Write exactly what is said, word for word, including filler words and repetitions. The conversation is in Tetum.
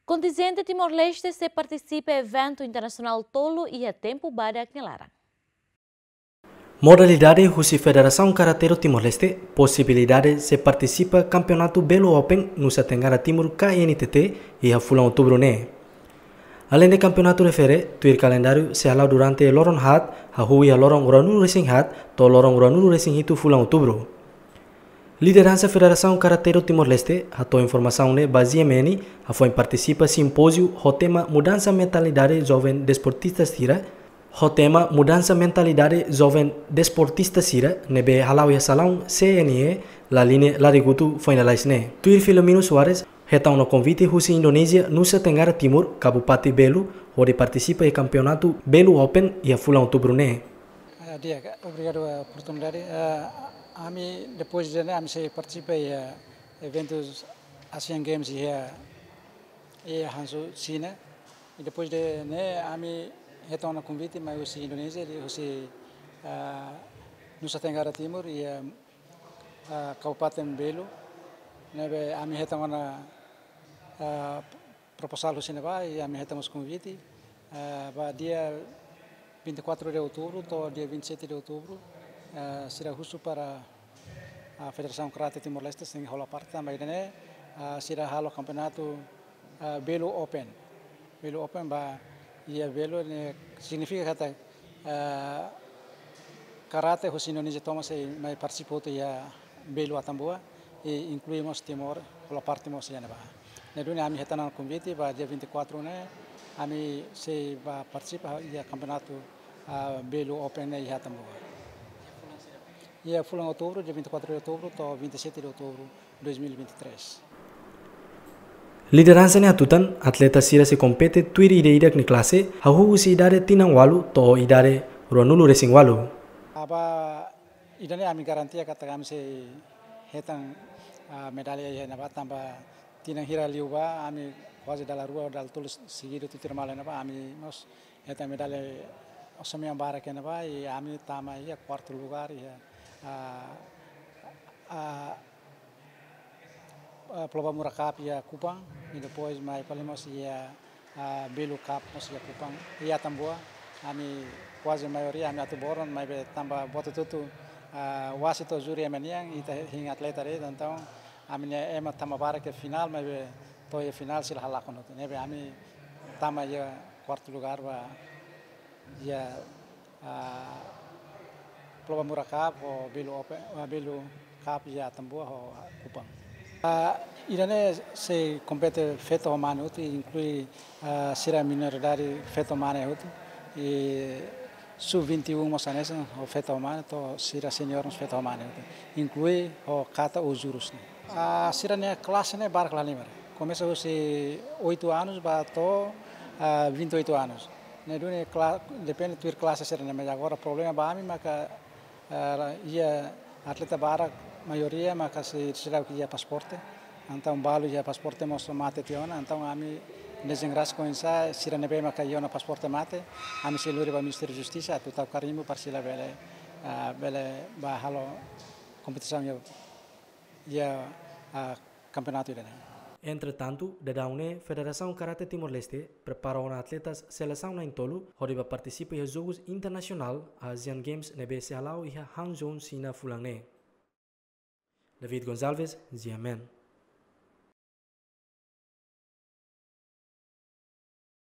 Kontinjente Timor-Leste sei partisipa eventu internasionál tolu iha tempu badak nia laran. Modalidade husi Federasaun Karate do Timor-Leste, posibilidade sei partisipa Kampeonatu Belu Open Nusa Tenggara Timur, K N T T, iha fulan Outubru ne'e. Aleinde kampeonatu refere, tuir kalendáriu sei hala'o durante loron haat, hahú iha loron ruanulu-resin-haat to'o loron ruanulu-resin-hitu fulan Outubru. Lideransa Federasaun Karate do Timor-Leste hato'o informasaun ne'e ba G M N, hafoin partisipa simpóziu ho tema Mudansa Mentalidade Joven Desportista Sira, ho tema Mudansa Mentalidade Joven Desportista Sira, ne'ebé hala'o iha salaun C N E, Laline, Larigutu, foin lalais ne'e. Tuir Filomeno Soares, hetan ona konvite husi Indonézia, Nusa Tenggara Timur, Kabupaten Belu, hodi partisipa iha Kampeonatu Belu Open iha fulan Outubru ne'e. Ah, di'ak, obrigadu, ah, oportunidade. Ah, ami, depois de ne'e, ami sei partisipa iha eventus Asian Games iha, iha Hangzhou, Xina. I depois de ne'e, ami hetan ona konvite mai husi Indonézia, husi, ah, Nusa Tenggara Timur, iha, ah, Kabupaten Belu. Ne'ebé ami hetan ona, ah, proposál husi ne'ebá, i ami hetan mós konvite, ah, ba dia vinte e quatro de outubro to'o dia vinte e sete de outubro, ah, sira husu para, ah, Federasaun Karate Timor-Leste sei hola parte tanba ida-ne'e, ah, sira halo kampeonatu, ah, Belu Open. Belu Open ba iha Belu ne'e signifika katak, ah, karate husi Indonézia tomak sei mai partisipa hotu iha Belu Atambua, i inklui mós Timor, hola parte mós iha ne'ebá. Ne'e duni ami hetan ona konvite ba dia vinte e quatro ne'e, ami sei ba partisipa iha kampeonatu, ah, Belu Open ne'e iha Atambua. Iha fulan Outubru, dia vinte e quatro de outubro to'o vinte e sete de outubro dois mil e vinte e três. Lideransa ne'e hatutan, atleta sira sei kompete tuir ida-idak nia klase, hahú husi idade tinan ualu to'o idade ruanulu-resin-ualu. Ba ida-ne'e ami garantia katak ami sei hetan, ah, medalla iha ne'ebá tanba tinan hira liubá ami kuaze dala rua, dala tolu seguidu tutuir malu iha ne'ebá, ami mós hetan medalla osan-mean barak iha ne'ebá, i ami tama iha kuartu lugar iha, ah, ah, ah, Pulau Bamura Cup iha Kupang, i depois mai fali mós iha, ah, Belu Cup mós iha Kupang, iha Atambua. Ami kuaze maioria ami atu boron, maibé tanba buat hotu-hotu, ah, wasit ho júri ema nian, ita hein atleta de'it, entaun ami-nia ema tama barak iha finál, maibé to'o iha finál sira halakon hotu. Ne'ebé ami tama iha kuartu lugar ba iha, ah, Pulau Bamura Cup ho Belu Open, ah, Belu Cup iha Atambua ho Kupang. Ah, ida-ne'e sei kompete feto ho mane hotu, inklui, ah, sira minoridade feto ho mane hotu. I sub vinte e um mós hanesan ho feto ho mane, to'o sira senior mós feto ho mane hotu. Inklui ho kata ho jurus ne'e. Ah, sira-nia klase ne'e barak la halimar. Komesa husi oito anos ba to'o, ah, vinte e oito anos. Ne'e duni kla-, depende tuir klase sira-ne'e, mas agora problema ba ami maka, ah, iha atleta barak, maioria maka sei seidauk iha pasaporte. Entaun balu iha pasaporte mós mate tiha ona, entaun ami dezengrasa oinsá sira ne'ebé maka iha ona pasaporte mate, ami sei lori ba Ministériu Justisa atu tau karimbu para sira bele, ah, bele ba halo kompetisaun iha, iha, ah, kampeonatu ida-ne'e. Entretantu, daudaun ne'e Federasaun Karate Timor-Leste prepara ona atletas selesaun na'in-tolu hodi ba partisipa iha Jogus Internasionál Asian Games ne'ebé sei hala'o iha Hangzhou, Xina fulan ne'e. David Gonçalves, G M N.